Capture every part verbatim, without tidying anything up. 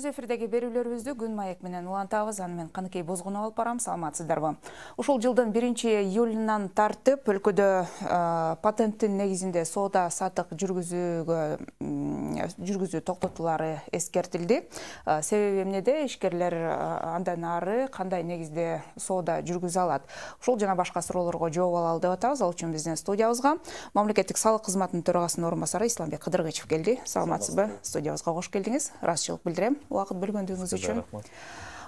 Өз эфирдеги берүүлөрүбүздү Күн маек менен улантабыз. Аны мен Каныкей Бозгунов алып барам. Саламатсыздарбы? Ушул жылдын биринчи июлунан тартып өлкөдө патенттин негизинде соода сатык жүргүзүүгө жүргүзүү токтотулары эскертилди. Себеби эмнеде? Ишкерлер андан ары кандай негизде соода жүргүзө алат? Ушул жана башка суроолорго жооп алалы деп атабыз. Ал үчүн биздин студиябызга мамлекеттик салык кызматынын төрагасынын орун басары Исламбек Кыдыргычев келди. Саламатсызбы? Студиябызга кош келдиңиз. Ыраазычылык билдирем убакыт бөлгөндүгүңүз үчүн.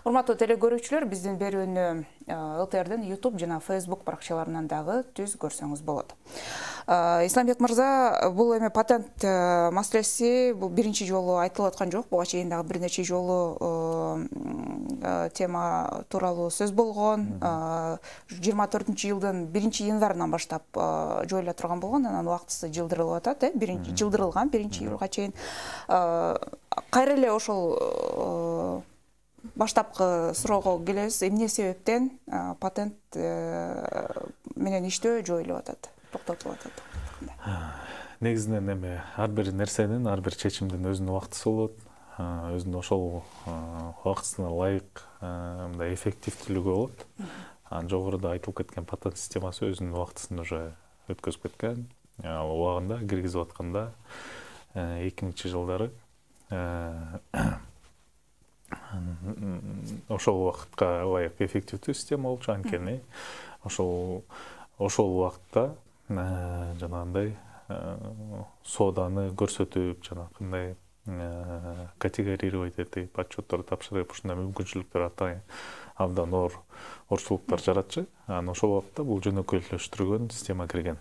Урматтуу телекөрүүчүлөр, биздин берүүнү ЛТРдин YouTube жана Facebook баракчаларынан дагы түз көрсөңүз болот. Исламбек мырза, бул эми патент маселеси бул биринчи жолу айтылып аткан жок. Буга чейин дагы бир нече жолу тема тууралуу сөз болгон. жыйырма төртүнчү жылдын биринчи январынан баштап жоюла турган болгон, анан убактысы жылдырылып атат, э, биринчи жылдырылган биринчи июлга чейин. Кайра эле ошол баштапкы суроого келебиз. Эмне себептен патент менен иштөө жоюлуп атат, токтотулуп атат? Негизинен эми ар бир нерсенин, ар бир чечимдин өзүнүн убактысы болот. Өзүнүн ошол убактысына ылайык мындай эффективдүүлүгү болот. Анан жогоруда айтылып кеткен патент системасы өзүнүн убактысын уже өткөзүп кеткен. Ал убагында киргизип атканда эки миңинчи жылдары ошол убакытка ылайык эффективдүү система болчу. Анткени ошол ошол убакытта жанагындай сооданы көрсөтүп, жанагындай категорировать этип, отчетторду тапшырып, ушундай мүмкүнчүлүктөр атайын абдан оор орчулуктар жаратчы. Анан ошол убакытта бул жөнөкөйлөштүрүлгөн система кирген.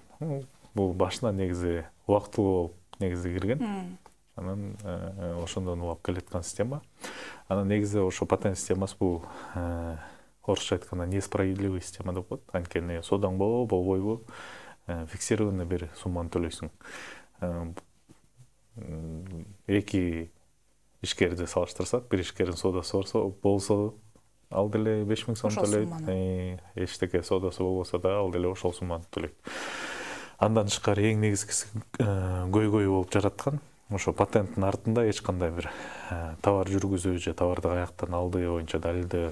Бул башынан негизи убактылуу болуп негизи кирген. Анан ошондон улап келаткан система. Анан негизи ошо патент системасы бул орусча айтканда несправедливый система деп коет. Анткени соодаң болобу, болбойбу, фиксированный бир сумманы төлөйсүң. Эки ишкерди салыштырсак, бир ишкердин соодасы болсо, ал деле беш миң сом төлөйт. Эчтеке соодасы болбосо да, ал деле ошол сумманы төлөйт. Андан тышкары эң негизгиси көйгөй болуп жараткан ошо патенттин артында эч кандай бир товар жүргүзүү же товарды каяктан алды боюнча далилдөө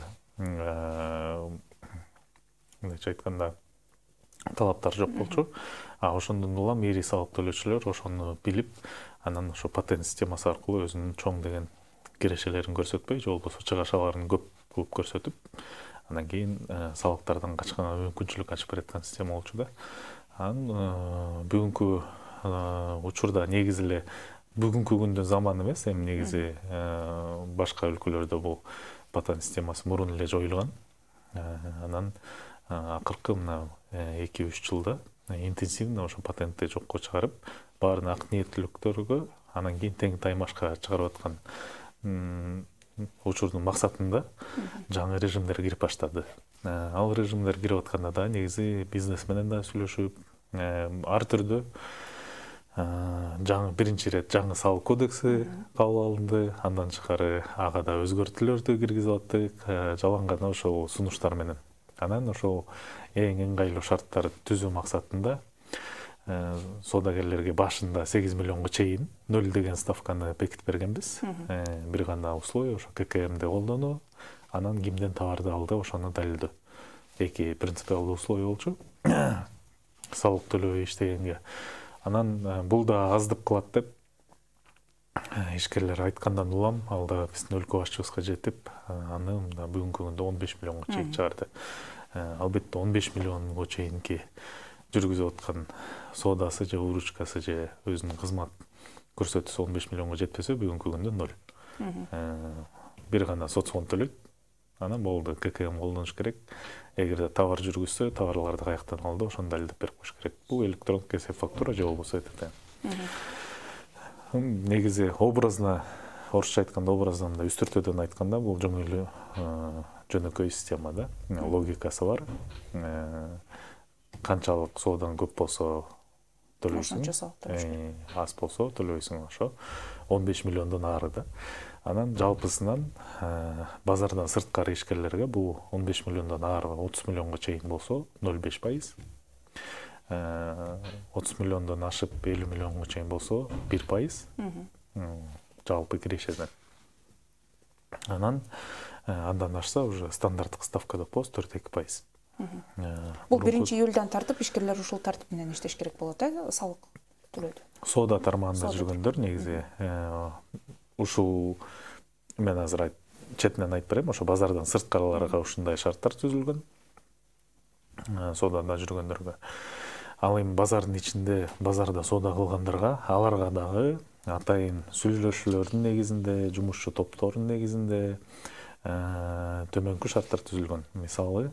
мындайча айтканда талаптар жок болчу. А ошондон улам ири салык төлөөчүлөр ошону билип, анан ошо патент системасы аркылуу өзүнүн чоң деген кирешелерин көрсөтпөй, же болбосо чыгашаларын көп кылып көрсөтүп, анан кийин салыктардан качканга мүмкүнчүлүк ачып бераткан система болчу да. Анан бүгүнкү учурда негизи эле бүгүнкү күндүн заманы эмес, эми негизи башка өлкөлөрдө бул патент системасы мурун эле жоюлган. Анан акыркы мына эки үч жылда интенсивно ошо патентти жокко чыгарып, баарын ак ниеттүүлүктөргө, анан кийин тең таймашка чыгарып аткан учурдун максатында жаңы режимдер кирип баштады. Ал режимдер кирип атканда да негизи бизнес менен да сүйлөшүп, ар түрдүү жаңы биринчи ирет жаңы салык кодекси кабыл алынды. Андан тышкары ага да өзгөртүүлөрдү киргизип аттык, жалаң гана ошол сунуштар менен. Анан ошол эң ыңгайлуу шарттарды түзүү максатында соодагерлерге башында сегиз миллионго чейин ноль деген ставканы бекитип бергенбиз. Бир гана условие ошо ка ка эмди колдонуу, анан кимден товарды алды ошону далилдөө. Эки принципиалдуу условие болчу салык төлөбөй иштегенге. Анан бул да аздык кылат деп ишкерлер айткандан улам ал да биздин өлкө башчыбызга жетип, аны бүгүнкү күндө он беш миллионго чейин чыгарды. Албетте он беш миллионго чейинки жүргүзүп аткан соодасы же выручкасы же өзүнүн кызмат көрсөтүүсү он беш миллионго жетпесе, бүгүнкү күндө ноль. Бир гана социон төлөйт. Анан болду, ка ка эм колдонуш керек. Эгерде товар жүргүзсө, товарларды каяктан алды, ошону далилдеп берип коюш керек. Бул электрондук эсеп фактура же болбосо ЭТТ. Негизи образно, орусча айтканда образдан да үстүртөдөн айтканда бул жөнөкөй жөнөкөй система да. Логикасы бар. Канчалык соодаң көп болсо төлөйсүң, аз болсо төлөйсүң, ошо он беш миллиондон ары да. Анан жалпысынан базардан сырткары ишкерлерге бул он беш миллиондон ары отуз миллионго чейин болсо ноль беш пайыз. отуз миллиондон ашып элүү миллионго чейин болсо бир пайыз. Жалпы кирешеден. Анан андан ашса уже стандарттык ставка деп коебуз, төрт эки пайыз. Бул биринчи июлдан тартып ишкерлер ушул тартип менен иштеш керек болот, э, салык төлөйдү. Соода тармагында жүргөндөр негизи ушул мен азыр четинен айтып берейин, ошо базардан сырткарыларга ушундай шарттар түзүлгөн. Соодада жүргөндөргө. Ал эми базардын ичинде базарда соода кылгандарга, аларга дагы атайын сүйлөшүүлөрдүн негизинде, жумушчу топтордун негизинде төмөнкү шарттар түзүлгөн. Мисалы,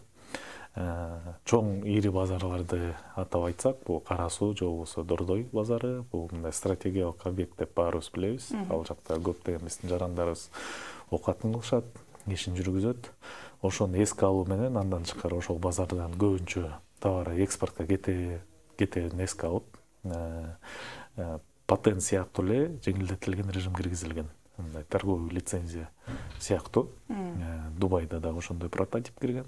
чоң ири базарларды атап айтсак, бул Кара Суу же болбосо Дордой базары, бул мындай стратегиялык объект деп баарыбыз билебиз. Ал жакта көптөгөн биздин жарандарыбыз окатын кылышат, ишин жүргүзөт. Ошону эске алуу менен андан тышкары ошол базардан көбүнчө товар экспортко кетерин эске алып, патент сыяктуу эле жеңилдетилген режим киргизилген. Мындай торговый лицензия сыяктуу. Дубайда дагы ошондой прототип кирген.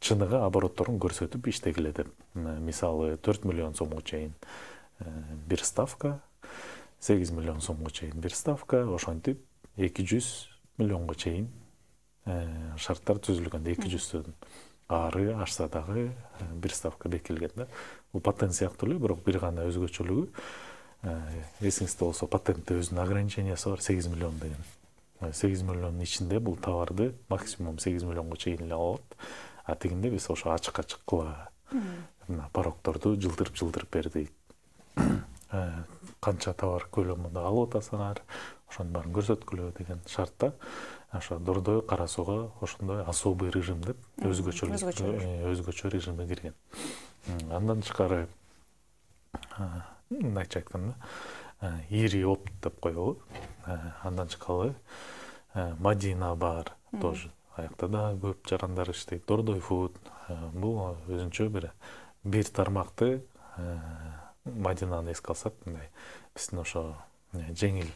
Чыныгы оборотторун көрсөтүп иштегиле деп. Мисалы, төрт миллион сомго чейин бир ставка, сегиз миллион сомго чейин бир ставка, ошентип эки жүз миллионго чейин шарттар түзүлгөн. эки жүздөн ары ашса дагы бир ставка бекилген да. Бул патент сыяктуу эле, бирок бир гана өзгөчөлүгү, эсиңизде болсо, патентте өзүнүн ограничениясы бар, сегиз миллион деген. сегиз миллиондун ичинде бул товарды максимум сегиз миллионго чейин эле алат. А тигинде биз ошо ачык-ачыкла порогторду жылдырып-жылдырып бердик. Канча товар көлөмүндө алып атасыңар, ошонун баарын көрсөткүлө деген шартта. Ошо Дордой, Кара Сууга ошондой особый режим деп өзгөчө өзгөчө режимге кирген. Андан тышкары, мындайча айтканда, ири опт деп коелу. Андан тышкары Мадина бар, тоже аякта да көп жарандар иштейт. Дордой Food, бул өзүнчө бир бир тармакты Мадинаны эске алсак, мындай биздин ошо жеңил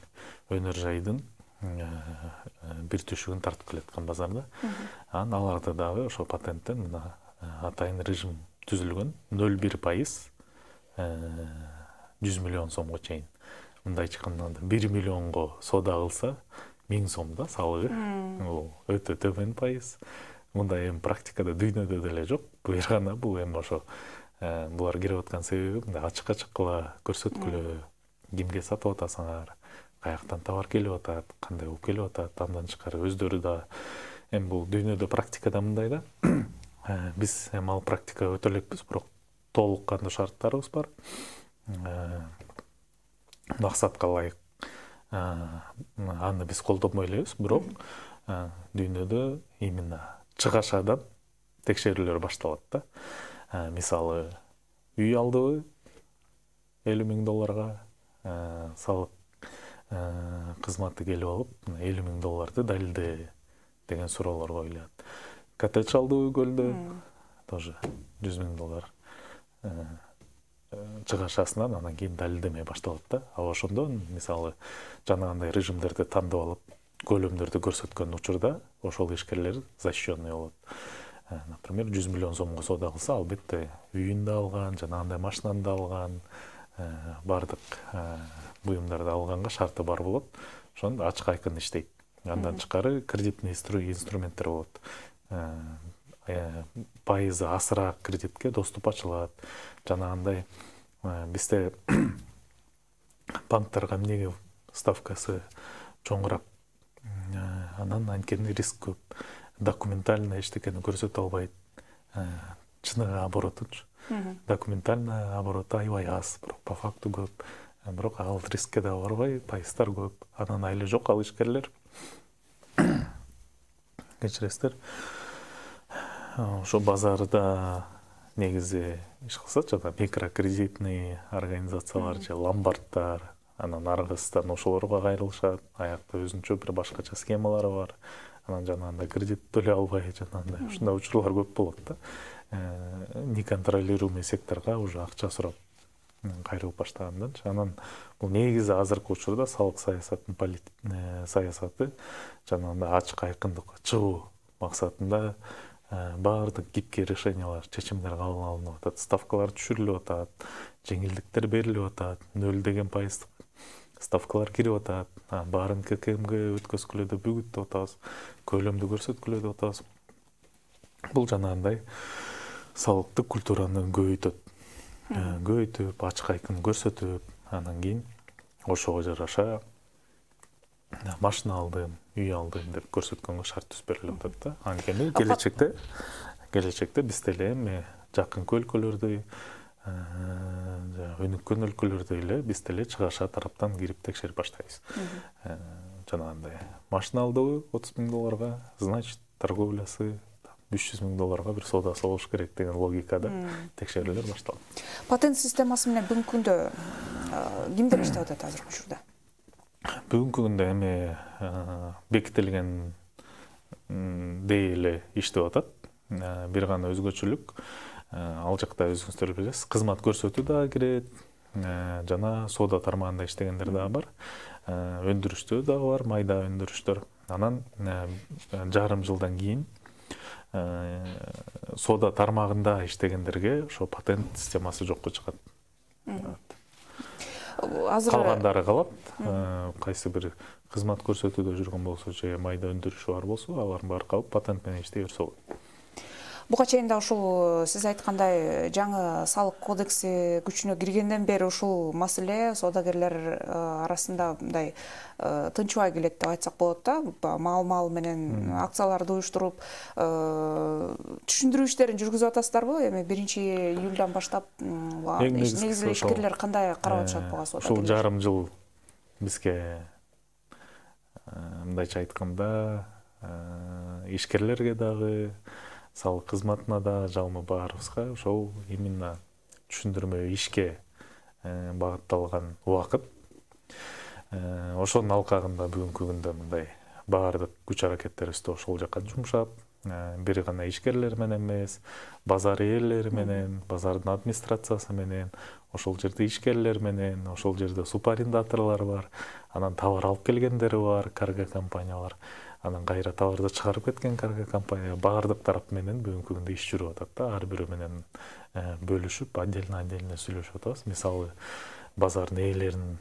өнөр жайдын бир түшүгүн тартып келаткан базарда. Анан аларда дагы ошо патенттен мына атайын режим түзүлгөн. ноль бир пайыз жүз миллион сомго чейин. Мындай айтканда бир миллионго соода кылса, миң сомда салыгы. Бул өтө төмөн пайыз. Мындай эми практикада дүйнөдө деле жок. Бир гана бул эми ошо булар кирип аткан себеби мындай ачык-ачыкла көрсөткүлө, кимге сатып атасыңар, каяктан товар келип атат, кандай болуп келип атат. Андан тышкары өздөрү да эми бул дүйнөдө практикада мындай да. Биз эми ал практикага өтө элекпиз, бирок толук кандуу шарттарыбыз бар. Максатка ылайык аны биз колдонбой элебиз, бирок дүйнөдө именно чыгашадан текшерүүлөр башталат да. Мисалы, үй алдыбы элүү миң долларга, салык кызматы келип алып, элүү миң долларды далилде деген суроолор коюлат. Коттедж алдыбы көлдө, тоже жүз миң доллар чыгашасынан анан кийин далилдемей башталат да. А ошондо мисалы жанагындай режимдерди тандап алып, көлөмдөрдү көрсөткөн учурда ошол ишкерлер защищенный болот. Например, жүз миллион сомго соода кылса, албетте үйүн да алган, жанагындай машинаны да алган, бардык буюмдарды алганга шарты бар болот. Ошондо ачык айкын иштейт. Андан тышкары кредитный инструменттер болот. Пайызы асыраак кредитке доступ ачылат. Жанагындай бизде банктерге эмнеге ставкасы чоңураак, анан анткени риск көп. Документально эчтекени көрсөтө албайт. Чыныгы оборотучу. Документально обороту аябай аз, бирок по факту көп. Бирок ал рискке да барбай, пайыздар көп. Анан айылы жок ал ишкерлер. Кечиресиздер. Ошо базарда негизи иш кылса, жана микрокредитный организациялар же ломбарддар, анан аргысыздан ошолорго кайрылышат. Аякта өзүнчө бир башкача схемалары бар. Анан жанагындай кредит төлөй албай, жанагындай ушундай учурлар көп болот да. Неконтролируемый секторго уже акча сурап кайрылып баштагандан. Анан бул негизи азыркы учурда салык саясатынын саясаты жанагындай ачык айкындыкка чыгуу максатында баардык гибкий решениялар, чечимдер кабыл алынып атат, ставкалар түшүрүлүп атат, жеңилдиктер берилип атат, нөл деген пайыздык ставкалар кирип атат, баарын ка ка эмге өткөзгүлө деп бүгүттүп атабыз, көлөмдү көрсөткүлө деп атабыз. Бул жанагындай салыктык культураны көбөйтөт. Көбөйтүп, ачык айкын көрсөтүп, анан кийин ошого жараша машина алдым, үй алдым деп көрсөткөнгө шарт түзүп берилип атат да. Анткени келечекте келечекте биз деле эми жакынкы өлкөлөрдү, өнүккөн өлкөлөрдө эле биз деле чыгаша тараптан кирип текшерип баштайбыз. Жанагындай машина алдыбы отуз миң долларга, значит торговлясы үч жүз миң долларга бир соодасы болуш керек деген логикада текшерүүлөр башталат. Патент системасы менен бүгүнкү күндө кимдер иштеп атат азыркы учурда? Бүгүнкү күндө эми бекитилген дей эле иштеп атат. Бир гана өзгөчөлүк, ал жакта өзүңүздөр билесиз, кызмат көрсөтүү дагы кирет, жана соода тармагында иштегендер дагы бар, өндүрүштөр дагы бар, майда өндүрүштөр. Анан жарым жылдан кийин соода тармагында иштегендерге ошо патент системасы жокко чыгат. Калгандары калат. Кайсы бир кызмат көрсөтүүдө жүргөн болсо же майда өндүрүшү бар болсо, алардын баары калып патент менен иштей берсе болот. Буга чейин да ушул сиз айткандай жаңы салык кодекси күчүнө киргенден бери ушул маселе соодагерлер арасында мындай тынчыбай келет деп айтсак болот да. Маал-маал менен акцияларды уюштуруп, түшүндүрүү иштерин жүргүзүп атасыздарбы? Эми биринчи июлдан баштап негизи эле ишкерлер кандай карап атышат буга соодагерлер? Ушул жарым жыл бизге мындайча айтканда ишкерлерге дагы, салык кызматына да, жалпы баарыбызга ошол именно түшүндүрмө ишке багытталган убакыт. Ошонун алкагында бүгүнкү күндө мындай баардык күч аракеттерибизди ошол жака жумшап, бир гана ишкерлер менен эмес, базар ээлери менен, базардын администрациясы менен, ошол жерде ишкерлер менен, ошол жерде субарендаторлор бар, анан товар алып келгендери бар, карго компаниялар, анан кайра товарды чыгарып кеткен карго компания, баардык тарап менен бүгүнкү күндө иш жүрүп атат да. Ар бирөө менен бөлүшүп, отдельно-отдельно сүйлөшүп атабыз. Мисалы, базардын ээлерин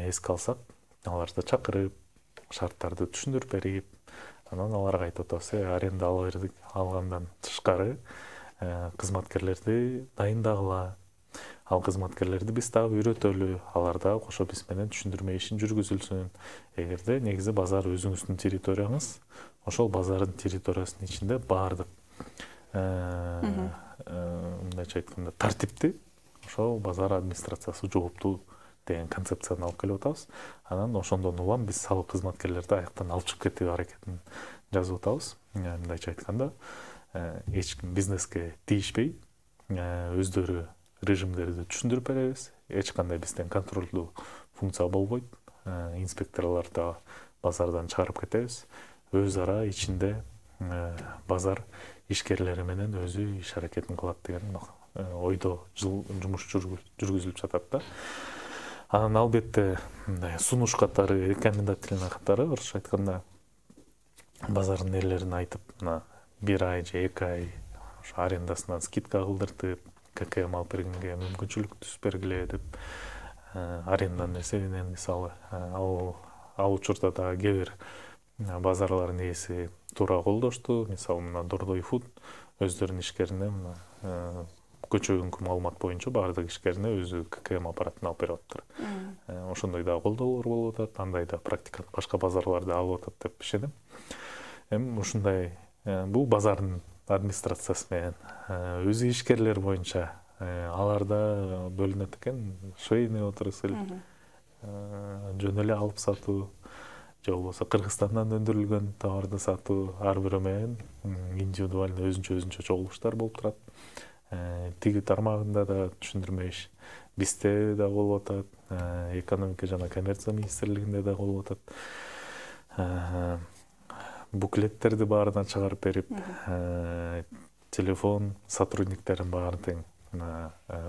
эске алсак, аларды чакырып, шарттарды түшүндүрүп берип, анан аларга айтып атабыз, аренда ала бердик, алгандан тышкары кызматкерлерди дайындагыла. Ал кызматкерлерди биз дагы үйрөтөлү, алар дагы кошо биз менен түшүндүрмө ишин жүргүзүлсүн. Эгерде негизи базар өзүңүздүн территорияңыз, ошол базардын территориясынын ичинде баардык мындайча айтканда тартипти ошол базар администрациясы жооптуу деген концепцияны алып келип атабыз. Анан ошондон улам биз салык кызматкерлерди аяктан алып чыгып кетүү аракетин жазып атабыз. Мындайча айтканда, эч ким бизнеске тийишпей, өздөрү режимдерди түшүндүрүп беребиз. Эч кандай бизден контролдуу функция болбойт. Инспекторлорду базардан чыгарып кетебиз. Өз ара ичинде базар ишкерлери менен өзү иш аракетин кылат деген ойдо жумуш жүргүзүлүп жатат да. Анан албетте мындай сунуш катары, рекомендательный катары, орусча айтканда, базардын ээлерине айтып, мына бир ай же эки ай арендасынан скидка кылдыртып, ККМ алып бергенге мүмкүнчүлүк түзүп бергиле деп аренданын эсебинен, мисалы, ал ал учурда да кээ бир базарлардын ээси туура колдошту. Мисалы, мына Дордой Фуд өздөрүнүн ишкерине мына көчөгүнкү маалымат боюнча баардык ишкерине өзү ККМ аппаратын алып берип атыптыр. Ошондой да колдоолор болуп атат, андай да практиканы башка базарларда алып атат деп ишенем. Эми ушундай бул базардын администрациясы менен өзү ишкерлер боюнча аларда бөлүнөт экен, швейный отрасль, жөн эле алып сатуу, же болбосо Кыргызстандан өндүрүлгөн товарды сатуу, ар бирөө менен индивидуально өзүнчө өзүнчө чогулуштар болуп турат. Тиги тармагында да түшүндүрмө иш бизде да болуп атат, экономика жана коммерция министрлигинде да болуп атат. Буклеттерди баарына чыгарып берип, телефон сотрудниктерин баарын тең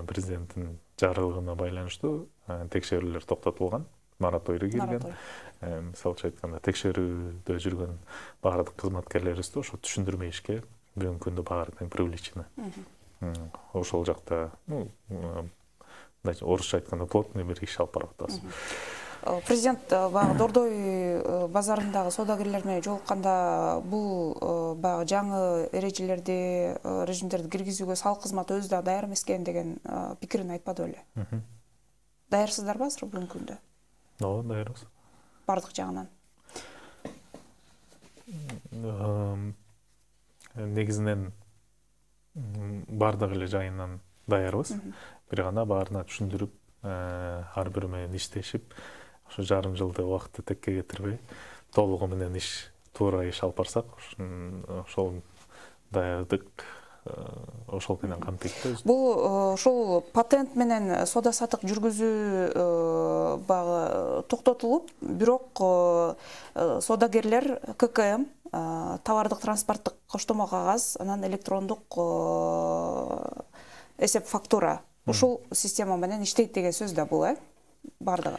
президенттин жарлыгына байланыштуу текшерүүлөр токтотулган, мораторий кирген. Мисалча айтканда, текшерүүдө жүргөн баардык кызматкерлерибизди ошо түшүндүрмө ишке бүгүнкү күндө баары тең привлечены. Ошол жакта, орусча айтканда, плотный бир иш алып барып атабыз. Президент баягы Дордой базарындагы соодагерлер менен жолукканда бул баягы жаңы эрежелерди, режимдерди киргизүүгө салык кызматы өзү да даяр эмес экен деген пикирин айтпады беле? Даярсыздарбы азыр бүгүнкү күндө? Ооба, даярбыз. Бардык жагынан. Негизинен бардык эле жайынан даярбыз. Бир гана баарына түшүндүрүп, ар бири менен иштешип, ошо жарым жылды убакытты текке кетирбей, толугу менен иш, туура иш алып барсак, ошол даярдык ошол менен камтыйт да. Бул ушул патент менен соода саттык жүргүзүү баягы токтотулуп, бирок соодагерлер ка ка эм товардык транспорттук коштомо кагаз, анан электрондук эсеп фактура ушул система менен иштейт деген сөз да бул, э? Бардыгы.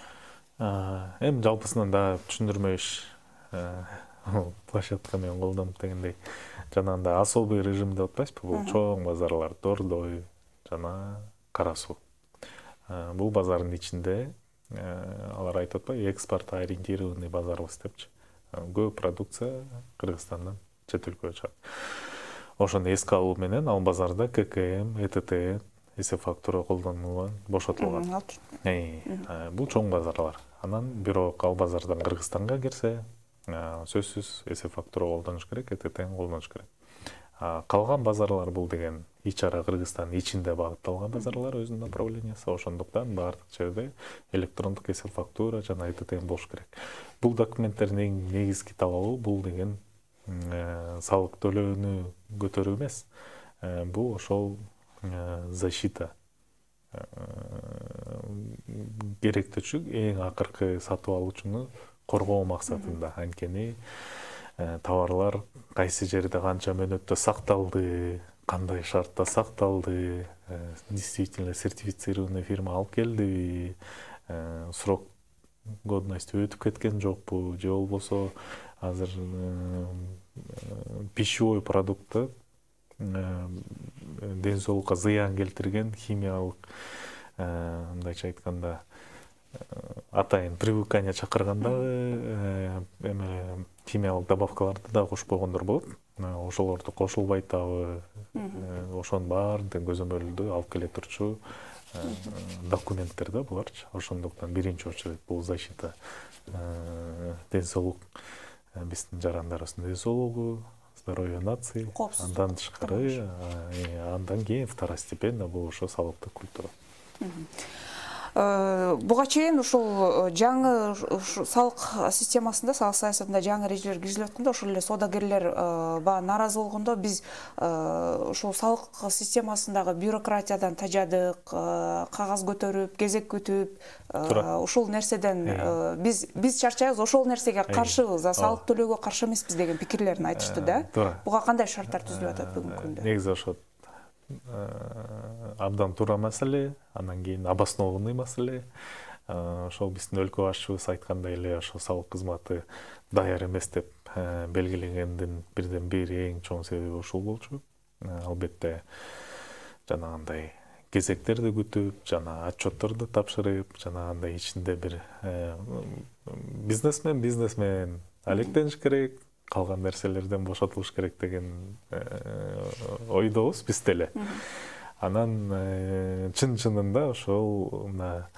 Эми жалпысынан да түшүндүрмө иш площадка менен колдонуп дегендей, жанагындай особый режим деп атпайсызбы? Бул чоң базарлар, Дордой жана Кара Суу. Бул базардын ичинде алар айтып атпайбы, экспорт ориентированный базарбыз депчи. Көп продукция Кыргызстандан чет өлкөгө чыгат. Ошону эске алуу менен ал базарда ка ка эм, э тэ тэ эсеп фактура колдонулган, бошотулган. Бул чоң базарлар. Анан бирок ал базардан Кыргызстанга кирсе, сөзсүз эсеп фактура колдонуш керек, э тэ тэни колдонуш керек. Калган базарлар бул деген ичара Кыргызстан ичинде багытталган базарлар өзүнүн направлениясы, ошондуктан баардык жерде электрондук эсеп фактура жана э тэ тэ болуш керек. Бул документтердин эң негизги талабы бул деген салык төлөөнү көтөрүү эмес. Бул ошол защита керектүүчү эң акыркы сатып алуучуну коргоо максатында. Анткени товарлар кайсы жерде канча мөөнөттө сакталды, кандай шартта сакталды, действительно сертифицированный фирма алып келдиби, срок годности өтүп кеткен жокпу, же болбосо азыр пищевой продуктты ден соолукка зыян келтирген химиялык, мындайча айтканда, атайын привыкание чакырганда эме химиялык добавкаларды да кошпогондор болот. Ошолорду кошулбайт дагы, ошонун баардыгын көзөмөлдүү алып келе турчу документтер да буларчы. Ошондуктан биринчи очередь бул защита ден соолук, биздин жарандарыбыздын ден соолугу, здоровье нации, андан тышкары, андан кийин второстепенно бул ошо салыктык культура. Буга чейин ушул жаңы салык системасында, салык саясатында жаңы эрежелер киргизилип атканда, ошол эле соодагерлер баа нааразы болгондо биз ушул салык системасындагы бюрократиядан тажадык, кагаз көтөрүп, кезек күтүп, ушул нерседен биз биз чарчайбыз, ошол нерсеге каршыбыз, салык төлөөгө каршы эмеспиз деген пикирлерин айтышты да. Буга кандай шарттар түзүлүп атат бүгүнкү күндө? Негизи ошо абдан туура маселе, анан кийин обоснованный маселе. Ошол биздин өлкө башчыбыз айткандай эле, ошо салык кызматы даяр эмес деп белгилегендин бирден бир эң чоң себеби ушул болчу. Албетте жанагындай кезектерди күтүп, жана отчетторду тапшырып, жанагындай ичинде бир бизнесмен бизнесмен алектениш керек, калган нерселерден бошотулуш керек деген ойдобуз биз деле. Анан чын-чынында ошол мына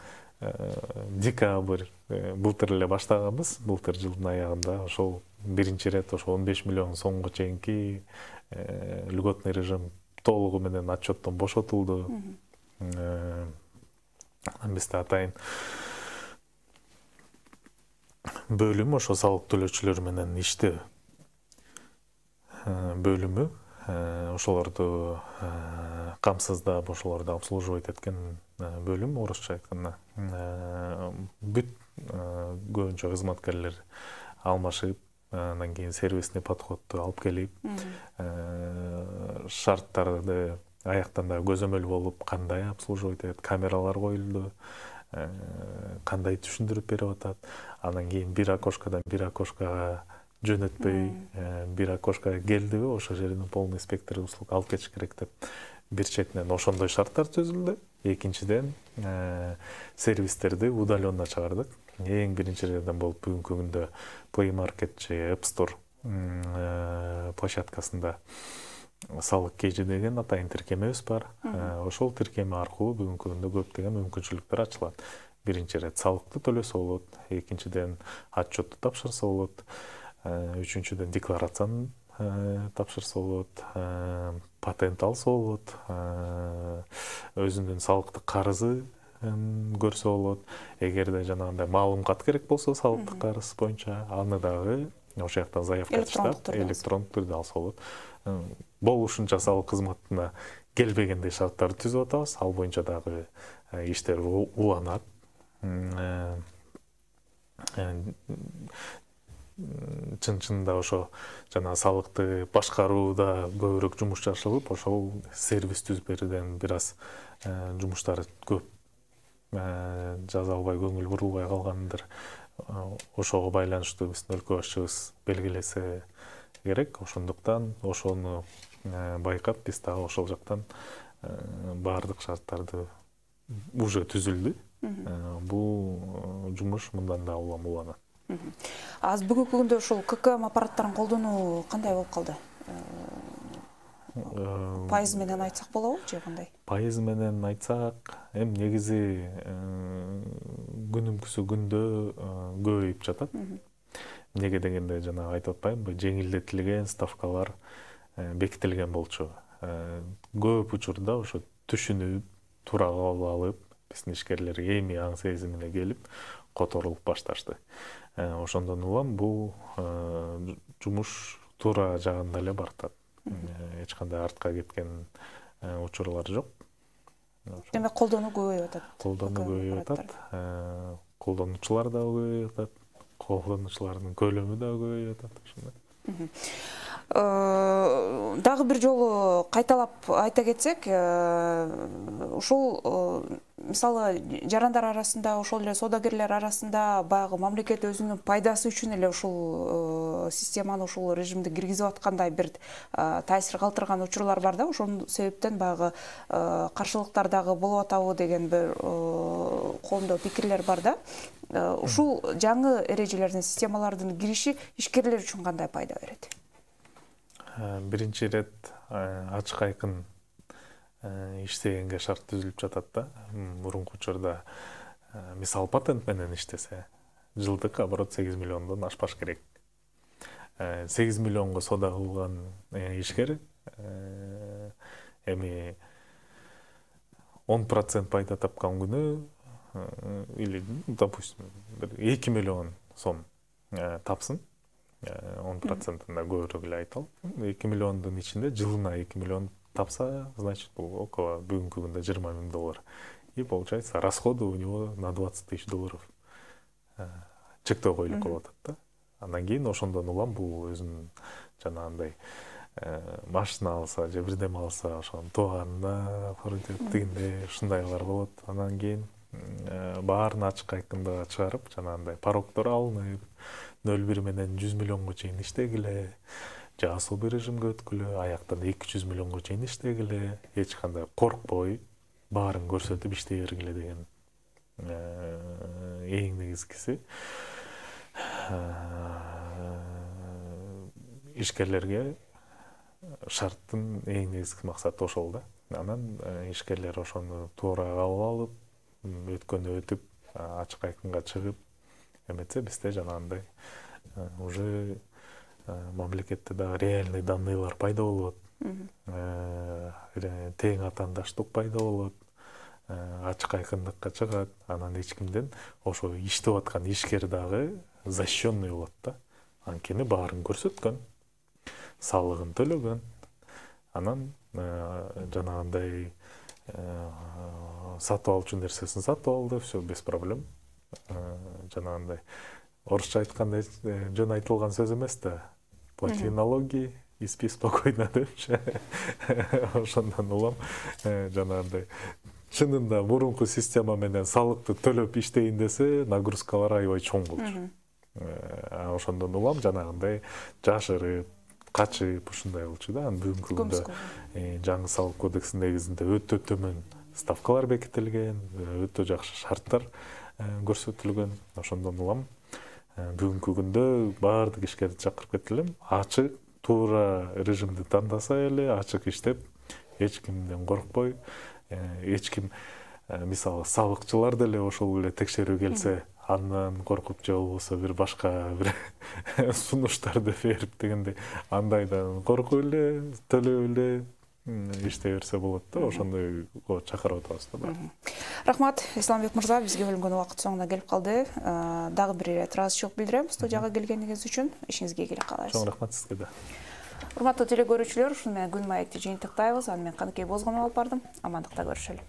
декабрь былтыр эле баштаганбыз, былтыр жылдын аягында ошол биринчи ирет ошо он беш миллион сомго чейинки льготный режим толугу менен отчеттон бошотулду. Анан бизде атайын бөлүм ошо салык төлөөчүлөр менен иштөө бөлүмү, ошолорду камсыздап, ошолорду обслуживать эткен бөлүм, орусча айтканда. Бүт көбүнчө кызматкерлер алмашып, андан кийин сервисный подходду алып келип, шарттарды аяктан да көзөмөл болуп, кандай обслуживать этет, камералар коюлду, кандай түшүндүрүп берип атат. Анан кийин бир окошкадан бир окошкага жөнөтпөй, бир окошкага келдиби, ошол жерден полный спектр услуг алып кетиш керек деп бир четинен ошондой шарттар түзүлдү. Экинчиден, сервистерди удаленно чыгардык. эң биринчилерден болуп бүгүнкү күндө Play Market же App Store площадкасында салык кежи деген атайын тиркемебиз бар. Ошол тиркеме аркылуу бүгүнкү күндө көптөгөн мүмкүнчүлүктөр ачылат. Биринчи ирет салыкты төлөсө болот, экинчиден отчетту тапшырса болот, үчүнчүдөн декларацияны тапшырса болот, патент алса болот, өзүнүн салыктык карызы көрсө болот. Эгерде жанагындай маалымат керек болсо салыктык карыз боюнча аны дагы ошол жактан заявка чыгып электрондук түрдө алса болот. Болушунча салык кызматына келбегендей шарттарды түзүп атабыз. Ал боюнча дагы иштер уланат. Чын-чынында ошо жана салыкты башкарууда көбүрөөк жумуш жашылып, ошол сервис түзүп берүүдөн бир аз жумуштар көп жаза албай, көңүл бурулбай калгандыр. Ошого байланыштуу биздин өлкө башчыбыз белгилесе керек. Ошондуктан ошону байкап, биз дагы ошол жактан баардык шарттарды уже түзүлдү. Бул жумуш мындан да улам уланат. Аз бүгүнкү күндө ушул ка ка эм аппараттарын колдонуу кандай болуп калды? Пайыз менен айтсак болобу же кандай? Пайыз менен айтсак, эми негизи күнүмкүсү күндө көбөйүп жатат. Неге дегенде жана айтып атпаймынбы, жеңилдетилген ставкалар бекитилген болчу. Көп учурда ошо түшүнүп, туура кабыл алып, биздин ишкерлер эми аң сезимине келип, которулуп башташты. Ошондон улам бул жумуш туура жагында эле баратат. Эч кандай артка кеткен учурлар жок. Демек колдонуу көбөйүп атат. Колдонуу көбөйүп атат. Колдонуучулар да көбөйүп атат. Колдонуучулардын көлөмү да көбөйүп атат ошондой. Дагы бир жолу кайталап айта кетсек, ушул мисалы жарандар арасында, ошол эле соодагерлер арасында баягы мамлекет өзүнүн пайдасы үчүн эле ушул системаны, ушул режимди киргизип аткандай бир таасир калтырган учурлар бар да. Ошол себептен баягы каршылыктар дагы болуп атабы деген бир коомдо пикирлер бар да. Ушул жаңы эрежелердин, системалардын кириши ишкерлер үчүн кандай пайда берет? Биринчи ирет ачык айкын иштегенге шарт түзүлүп жатат да. Мурунку учурда мисал патент менен иштесе, жылдык оборот сегиз миллиондон ашпаш керек. сегиз миллионго соода кылган ишкер эми он процент пайда тапкан күнү или, допустим, эки миллион сом тапсын, он процентында көбүрөөк эле айталып, эки миллиондун ичинде жылына эки миллион тапса, значит, бул около бүгүнкү күндө жыйырма миң доллар. И получается, расходы у него на двадцать тысяч долларов чектөө коюлуп калып атат да. Андан кийин ошондон улам бул өзүнүн жанагындай машина алса же бирдеме алса, ошонун тууганына тигинде ушундайлар болот. Андан кийин баарын ачык айкындыгы чыгарып, жанагындай порогдор алынып, нөл бир менен жүз миллионго чейин иштегиле, же особый режимге өткүлө, аяктан эки жүз миллионго чейин иштегиле, эч кандай коркпой, баарын көрсөтүп иштей бергиле деген эң негизгиси. Ишкерлерге шарттын эң негизги максаты ошол да. Анан ишкерлер ошону туура кабыл алып, өткөнү өтүп, ачык айкынга чыгып, эметсе бизде жанагындай уже мамлекетте дагы реальный данныйлар пайда болот. Тең атаандаштык пайда болот. Ачык айкындыкка чыгат. Анан эч кимден ошо иштеп аткан ишкер дагы защищенный болот да. Анткени баарын көрсөткөн, салыгын төлөгөн. Анан жанагындай сатып алчу нерсесин сатып алды, все без проблем. Жанагындай орусча айтканда жөн айтылган сөз эмес да. Плати налоги и спи спокойно депчи. Ошондон улам жанагындай чынында мурунку система менен салыкты төлөп иштейин десе, нагрузкалар аябай чоң болчу. Ошондон улам жанагындай жашырып, качып ушундай болчу да. Бүгүнкү күндө жаңы салык кодексинин негизинде өтө төмөн ставкалар бекитилген, өтө жакшы шарттар көрсөтүлгөн. Ошондон улам бүгүнкү күндө баардык ишкерди чакырып кетилем. Ачык, туура режимди тандаса эле, ачык иштеп, эч кимден коркпой, эч ким мисалы сабыкчылар деле ошол эле текшерүү келсе, андан коркуп же болбосо бир башка бир сунуштарды берип дегендей андайдан коркуп эле, төлөп эле иштей берсе болот да, ошондой чакырып атабыз да. Рахмат, Исламбек мырза, бизге бөлүнгөн убакыт соңуна келип калды. Дагы бир ирет ыраазычылык билдирем студияга келгениңиз үчүн. Ишиңизге ийгилик каалайбыз. Чоң рахмат сизге да. Урматтуу телекөрүүчүлөр, ушуну менен күн маекти жыйынтыктайбыз. Аны мен Каныкей Бозгунова алып бардым. Амандыкта көрүшөлү.